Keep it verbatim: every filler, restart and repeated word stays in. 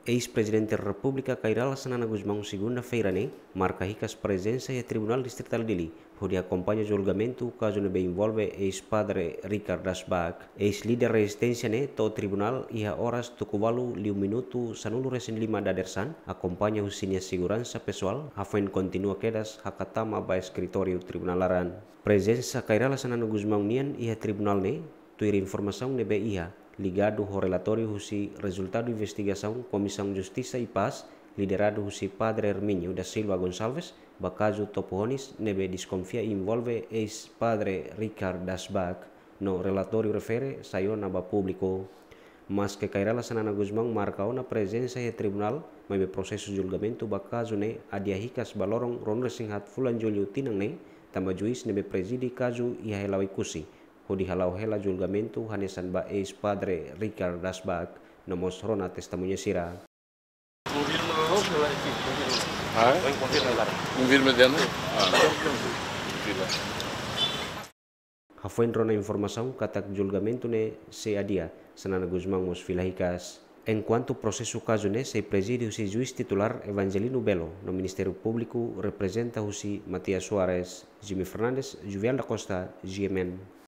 Eis-Prezidente Repúblika Kay Rala Xanana Gusmão, segunda-feira ne'e, marka hikas prezensa iha Tribunál Distritál Dili, hodi akompaña julgamentu kazu ne'ebé envolve eis-padre Richard Dasbach. Eis-líder rezisténsia ne'e to'o tribunál iha oras tuku ualu liu minutu sanulu-resin-lima dadeer-saan, akompaña husi nia seguransa pesoál, hafoin kontinua kedas haka tama ba eskritóriu tribunál laran. Prezensa Kay Rala Xanana Gusmão nian iha tribunál ne'e, tuir informasaun ne'ebé iha, ligadu ho relatóriu husi rezultadu investigasaun Komisaun Justisa i Pás, lideradu husi Padre Hermínio da Silva Gonçalves, ba kazu Topo Honis ne'ebé deskonfia envolve eis-padre Richard Dasbach, no relatóriu refere sai ona ba públiku. Maske Kay Rala Xanana Gusmão marka ona prezensa iha tribunál, maibé prosesu julgamentu ba kazu ne'e adia hikas ba loron ruanulu-resin-haat fulan Jullu tinan ne'e, tanba juís ne'ebé prezide kazu iha hela Oekusi, hodi hala'o hela julgamentu hanesan ba eis-padre Richard Dasbach, no mós rona testemuña sira. Ah, é? Confirma, confirma, claro. Confirma dentro? Ah, então, confirma. Hafoin rona informasaun katak julgamentu ne'e sei adia, Xanana Gusmão mós fila hikas. Enkuantu prosesu kazu ne'e sei prezide husi juís titulár Evangelino Belo, no Ministériu Públiku reprezenta husi Matias Soares, Jimmy Fernandes, Juvian da Costa, G M N.